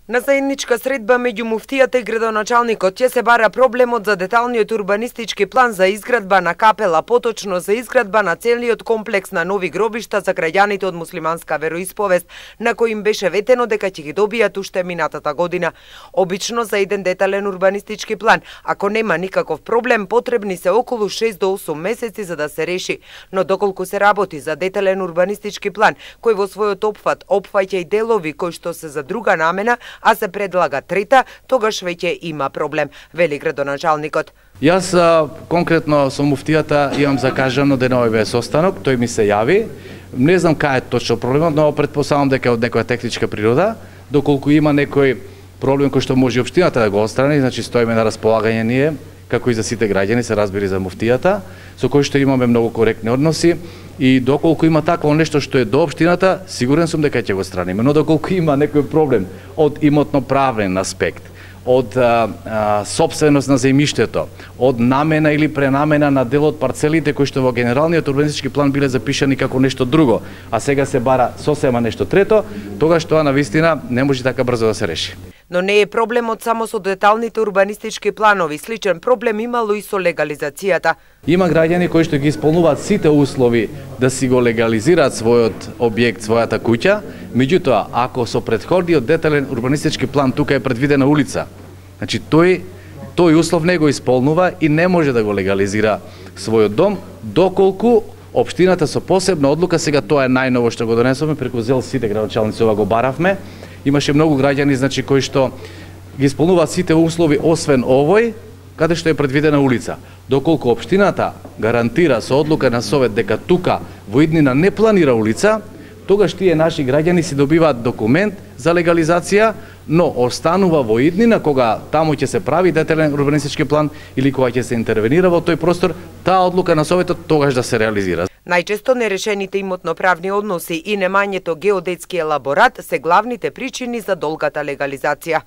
На заедничка средба меѓу муфтијата и градоначалникот ќе се бара проблемот за деталниот урбанистички план за изградба на капела, поточно за изградба на целиот комплекс на нови гробишта за граѓаните од муслиманска вероисповест, на кој им беше ветено дека ќе ги добијат уште минатата година. Обично за еден детален урбанистички план, ако нема никаков проблем, потребни се околу 6 до 8 месеци за да се реши, но доколку се работи за детален урбанистички план, кој во својот опфат опфаќа и делови кои што се за друга намена, а се предлага трета, тогаш веќе има проблем, вели градоначалникот. Јас конкретно со муфтијата имам закажано денови без останок, тој ми се јави. Не знам кај е точно проблемот, но претпоставам дека од некоја техничка природа, доколку има некој проблем кој што може општината да го отстрани, значи стоиме на располагање ние, како и за сите граѓани, се разбери за муфтијата, со кој што имаме многу коректни односи. И доколку има такво нешто што е до општината, сигурен сум дека ќе го страниме. Но доколку има некој проблем од имотно-правен аспект, од сопственост на земјиштето, од намена или пренамена на дел од парцелите кои што во генералниот урбанистички план биле запишани како нешто друго, а сега се бара сосема нешто трето, тогаш тоа навистина не може така брзо да се реши. Но не е проблемот само со деталните урбанистички планови, сличен проблем имало и со легализацијата. Има граѓани кои што ги исполнуваат сите услови да си го легализираат својот објект, својата куќа, меѓутоа, ако со претходниот детален урбанистички план тука е предвидена улица, значи тој услов не го исполнува и не може да го легализира својот дом, доколку општината со посебна одлука, сега тоа е најново што го донесовме, преку ЗЕЛ сите градоначалници ова го баравме, имаше многу граѓани, значи, кои што ги исполнуваат сите услови освен овој, каде што е предвидена улица. Доколку општината гарантира со одлука на совет дека тука во иднина не планира улица, тогаш тие наши граѓани си добиваат документ за легализација, но останува во иднина кога таму ќе се прави детален урбанистички план или кога ќе се интервенира во тој простор, таа одлука на советот тогаш да се реализира. Најчесто нерешените имотно-правни односи и немањето геодетски елаборат се главните причини за долгата легализација.